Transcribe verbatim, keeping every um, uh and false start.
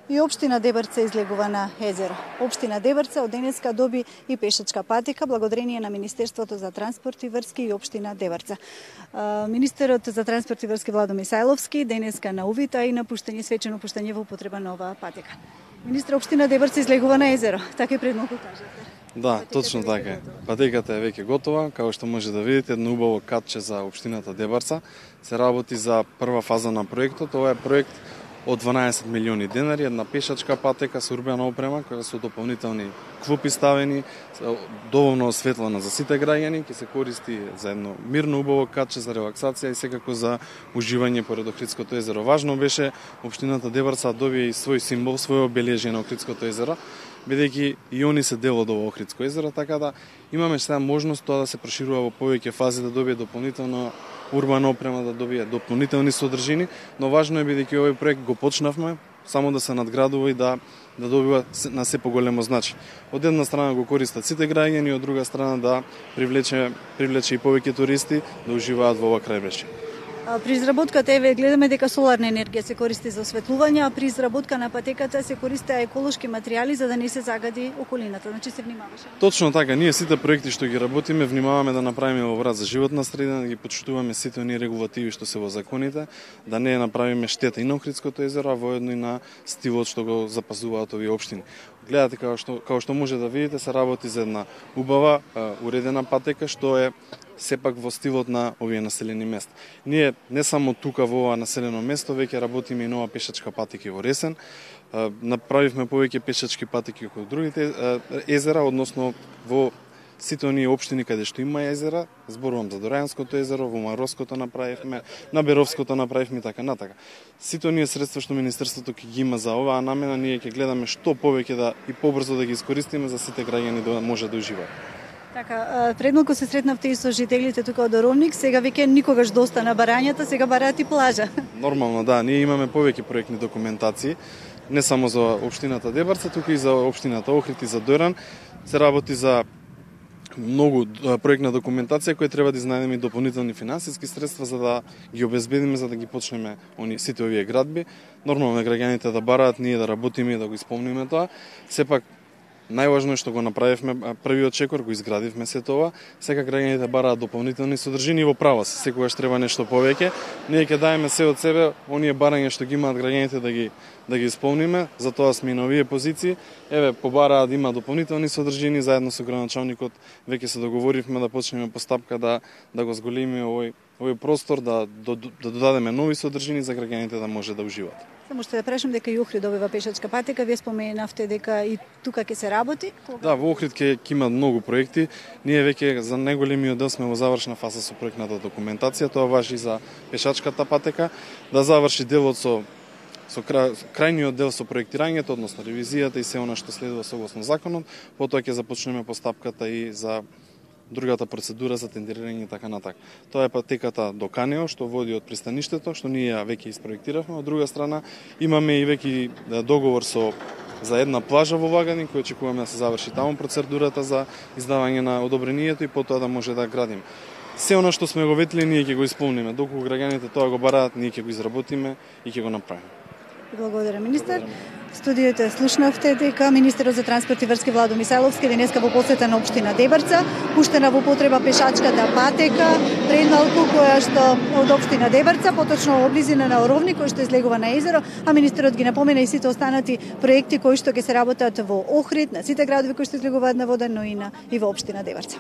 И општина Дебрца излегува на езеро. Општина Дебрца од денеска доби и пешачка патека благодарение на Министерството за транспорт и врски и општина Дебрца. Министерот за транспорт и врски Владо Мисајловски денеска на увид, а и на пуштање свечено пуштање во употреба на оваа патека. Министер, општина Дебрца излегува на езеро, така и пред малку кажете. Да, точно така. Патеката е веќе готова, како што може да видите, едно убаво катче за општината Дебрца. Се работи за прва фаза на проектот. Ова е проект од дванаесет милиони денари, една пешачка патека со урбена опрема, која со дополнителни клупи ставени, доволно осветлена за сите граѓани, ќе се користи за едно мирно убаво катче за релаксација и секако за уживање поред Охридското езеро. Важно беше општината Дебрца добие и свој символ, свој обележје на Охридското езеро, бидејќи и они се дел од ово Охридско езеро, така да имаме сега можност тоа да се проширува во повеќе фази, да добие дополнително урбана опрема, да добие дополнителни содржини, но важно е бидејќи овој проект го почнавме, само да се надградува и да да добива на се поголемо значење. Од една страна го користат сите граѓани, од друга страна да привлече привлече и повеќе туристи да уживаат во ова крајбрежје. При изработката еве гледаме дека соларна енергија се користи за осветлување, а при изработка на патеката се користеа еколошки материјали за да не се загади околината. Значи се внимаваше. Точно така, ние сите проекти што ги работиме внимаваме да направиме во врат за животна средина, да ги почитуваме сите оние регулативи што се во законите, да не направиме штета и на Охридското езеро, а воедно и на стилот што го запазуваат овие општини. Гледате како што како што може да видите, се работи за една убава, уредена патека што е сепак во стилот на овие населени места. Ние не само тука во ова населено место, веќе работиме и нова пешачка патека во Ресен. Направивме повеќе пешачки патеки како другите езера, односно во сите оние општини каде што има езера, зборувам за Дорајанското езеро, во Маровското направивме, на Беровското направивме и така натака. Сите оние средства што Министерството ќе ги има за оваа намена, ние ќе гледаме што повеќе да и побрзо да ги искористиме за сите граѓани да може да уживаат. Така, пред малку се сретнавте и со жителите тука од Оровник, сега веќе никогаш доста на барањата, сега бараат и плажа. Нормално, да, ние имаме повеќе проектни документации, не само за општината Дебрца, тука и за општината Охрид и за Доран. Се работи за многу проектна документација која треба да изнајдеме и дополнителни финансиски средства за да ги обезбедиме, за да ги почнеме они сите овие градби. Нормално е граѓаните да бараат, ние да работиме и да го исполниме тоа. Сепак најважно е што го направивме првиот чекор, го изградивме се тоа. Сега граѓаните бараат дополнителни содржини, во право се, секогаш треба нешто повеќе. Ние ќе даеме се од себе, оние барања што ги имаат граѓаните да ги да ги исполниме, затоа сме и на овие позиции. Еве, побараа да има дополнителни содржини, заедно со градоначалникот веќе се договоривме да почнеме постапка да да го зголемиме овој овој простор, да, да, да додадеме нови содржини за граѓаните да може да уживаат. Само што да прашам дека и Охрид добива пешачка патека, вие споменавте дека и тука ќе се работи? Кога? Да, во Охрид ќе има многу проекти. Ние веќе за најголемиот дел сме во завршна фаза со проектната документација, тоа важи за пешачката патека, да заврши делот со со крајниот дел со проектирањето, односно ревизијата и се она што следува согласно законот, потоа ќе започнеме постапката и за другата процедура за тендерирање и така натака. Тоа е патеката до Канео, што води од пристаништето, што ние веќе испроектиравме. Од друга страна, имаме и веќе договор со за една плажа во Ваганин, кој очекуваме да се заврши таму процедурата за издавање на одобрението и потоа да може да градиме. Се она што сме го ветили, ние ќе го исполниме. Доколку граѓаните тоа го бараат, ние ќе го изработиме и ќе го направиме. Благодарам, министер. Студиото слушнавте дека министерот за транспорт и врски Владо Мисајловски денеска во посета на општина Дебрца, пуштена во употреба пешачката патека, пред малку која што од општина Дебрца, поточно во близина на Оровник, кој што излегува на езеро, а министерот ги напомена и сите останати проекти кои што ќе се работат во Охрид, на сите градови кои што излегуваат на вода, но и на и во општина Дебрца.